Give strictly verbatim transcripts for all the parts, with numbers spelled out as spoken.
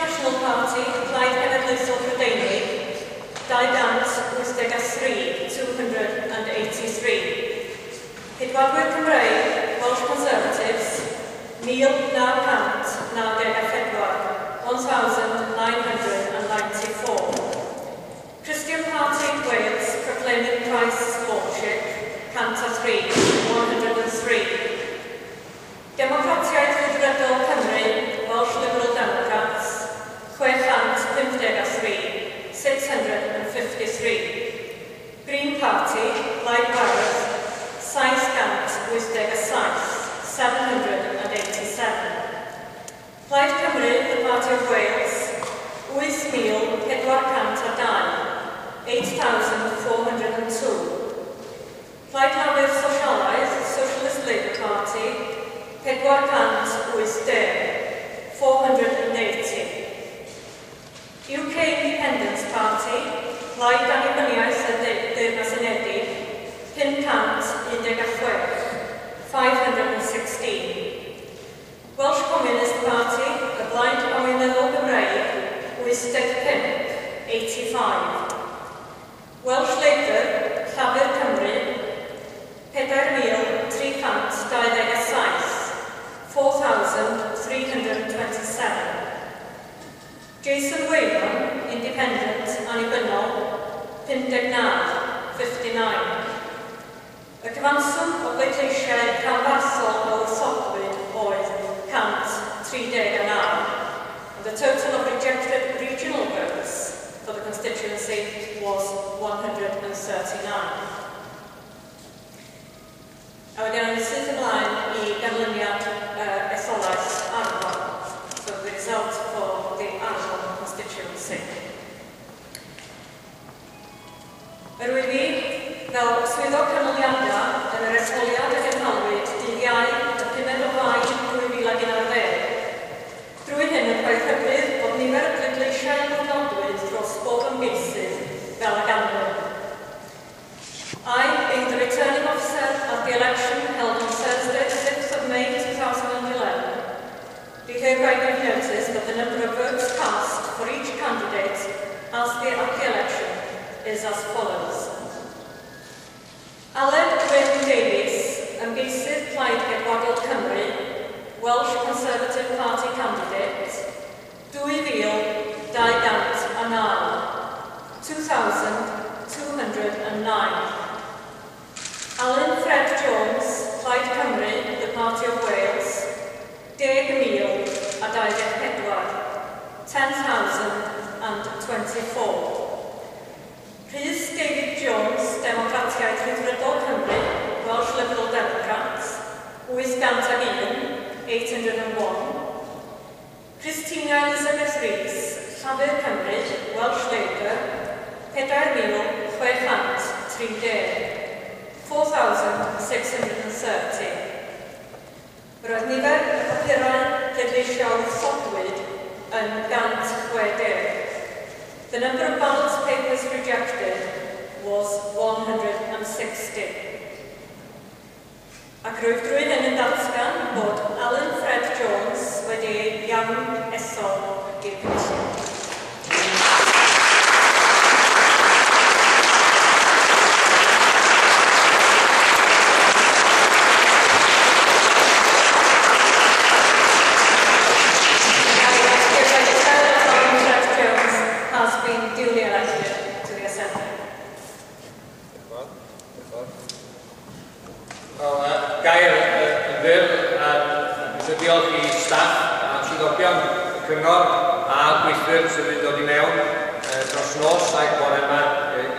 National Party, Plaid Genedlaethol Prydeinig, dau gant wyth deg a thri, two hundred and eighty-three. Ceidwadwyr Cymreig, Welsh Conservatives, mil naw cant naw deg a phedwar, one thousand nine hundred and ninety-four. Christian Party Wales, proclaiming Christ's Lordship, cant a thri, one hundred and three. Democratiaid Rhyddfrydol Cymru, Welsh Liberal Democrats, chwe chant pump deg a thri, six hundred and fifty-three. Green Party, Plaid Werdd, saith cant wyth deg a saith, seven hundred and eighty-seven. Plaid Cymru, the Party of Wales, wyth mil pedwar cant a dau, eight thousand four hundred and two. Plaid Lafur Sosialaidd, Socialist Labour Party, pedwar cant wyth deg, four hundred and eighty. U K Independence Party, Plaid Annibyniaeth y Deyrnas Unedig, pum cant un deg a chwech, five hundred and sixteen. Welsh Communist Party, y Blaid Gomiwnyddol Gymreig, wyth deg pump, eighty-five. Welsh Labour, Llafur Cymru, pedair mil tri chant dau ddeg a saith, four thousand three hundred and twenty-seven. Jason Wayman, Independent, Annibynnol, pum deg naw, fifty-nine. Y cyfanswm o bleidleisiau rhanbarthol a wrthodwyd oedd cant tri deg a naw. And the total of rejected regional votes for the constituency was one hundred and thirty-nine. A wedyn awn ni syth ymlaen i ganlyniad uh, etholaeth Arfon. So the result for the Arfon constituency. Yr wyf fi, fel swyddog canlyniadau yn yr etholiad a gynhaliwyd dydd Iau y pumed o Fai dwy fil ag un ar ddeg. Drwy hyn yn rhoi rhybudd bod nifer y pleidleisiau a gofnodwyd dros bob ymgeisydd fel y ganlyn. I, being the returning officer at the election held on Thursday, the fifth of May two thousand and eleven, do hereby give notice that the number of votes cast for each candidate as the, at the election is as follows. Aled Wyn Davies, ymgeisydd Plaid Ceidwadol Cymru, Welsh Conservative Party candidate, dwy fil dau gant a naw, two thousand two hundred and nine. Alun Fred Jones, Plaid Cymru, the Party of Wales, deg mil a dau ddeg pedwar, ten thousand and twenty-four. Rhys David Jones, Democratiaid Rhyddfrydol Cymru, Welsh Liberal Democrats, wyth gant ag un, eight hundred and one. Christina Elizabeth Rees, Llafur Cymru, Welsh Labour, pedair mil chwe chant tri deg, four thousand six hundred and thirty. Roedd nifer y papurau pleidleisiau wrthodwyd yn gant chwe deg. The number of ballot papers rejected was one hundred and sixty. Ac rwyf drwy hyn yn datgan bod Alun Fred Jones wedi ei iawn ethol i'r Cynulliad. Gair yn fyr, eisiau diolch i staff a swyddogion y cyngor a gweithwyr sydd wedi dod i mewn dros nos ac bore yma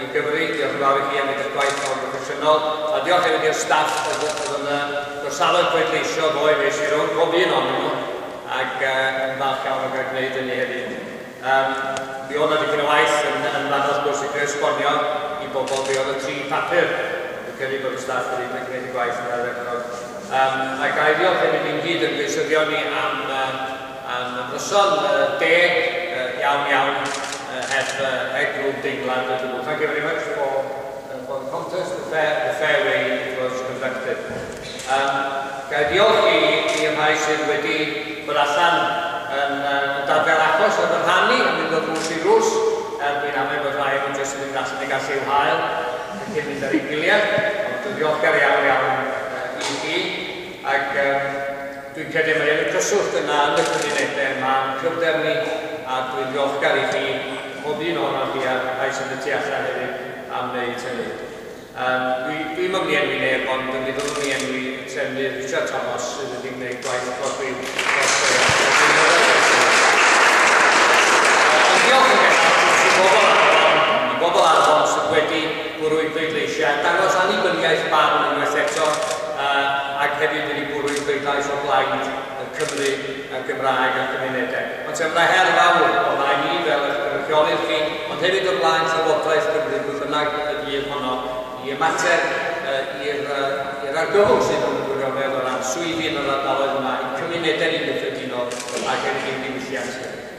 i gyfri. Diolch yn fawr i chi am eich gwaith mor broffesiynol. A diolch hefyd i'r staff oedd yn gorsafoedd pleidleisio ddoe fe si rownd pob un ohonyn nhw ac yn falch iawn o gael gwneud hynny hefyd. Mi oedd 'na dipyn o waith yn fanno wrth gwrs i greu esbonio i bobl be oedd y tri papur. Dwi'n credu bod y staff wedi gwneud y gwaith yn ardderchog. Um, a ga i ddiolch hefyd i'n gyd ymgeisyddion ni am, uh, am ymryson uh, deg uh, iawn iawn uh, heb uh, heb grŵp deimlad o gwbl. Thank you very much for, uh, for the contest, the fair, the fair way it was conducted. Um, ga i ddiolch i, i'r rhai sydd wedi bod allan yn uh, Dadfer achos oedd yn rhannu yn mynd o drws i drws, er dwi'n amau bod rhai o'n jyst yn mynd allan i gallu i'w hael cyn mynd ar ei gwyliau, ond dwi'n ddiolchgar iawn iawn uh, i chi, ac um, dwi'n credu mae yn y cyswllt yna yn y cymunedau yma, yn cryfder ni, a dwi'n ddiolchgar i chi, pob un ohonoch chi a'r rhai sydd y tu allan hefyd am wneud hynny. Um, dwi, dwi'm yn mynd i enwi neb, ond mi fyddwn ni enwi y trefnydd Richard Thomas sydd wedi gwneud gwaith clodwiw dros y. Ond diolch yn bennaf i bobl Arfon, i bobl Arfon sydd wedi bwrw eu pleidleisiau, dangos annibyniaeth barn unwaith eto, uh, ac hefyd wedi bwrw eu pleidlais o blaid y Cymru, y Gymraeg a'r cymunedau. Ond se yna her fawr o flaen ni fel eich cynrychiolydd chi, ond hefyd o blaen Llywodraeth Cymru, pwy bynnag y dydd honno, i ymateb uh, i'r uh, argyfwng sydd yn y gwirionedd o ran swyddi yn yr ardaloedd yma, i'n cymunedau ni'n gyffredinol ac hefyd i'n diwylliant.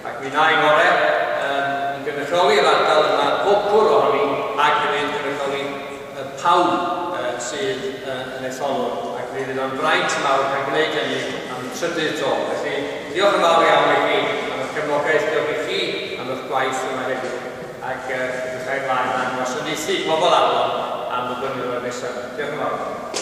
Ac mi wna i ngorau um, i gynrychioli'r ardal yma, pob cwr ohoni, ac hefyd gynrychioli uh, pawb uh, sydd uh, yn etholwr. Ac mi fydd o'n fraint mawr cael gwneud hynny am y trydydd tro. Felly, diolch yn fawr iawn i chi am eich cefnogaeth, diolch i chi am eich gwaith yma heddiw. Ac uh, edrychai ymlaen am wasanaethu pobl Arfon am y blynyddoedd nesaf. Diolch yn fawr.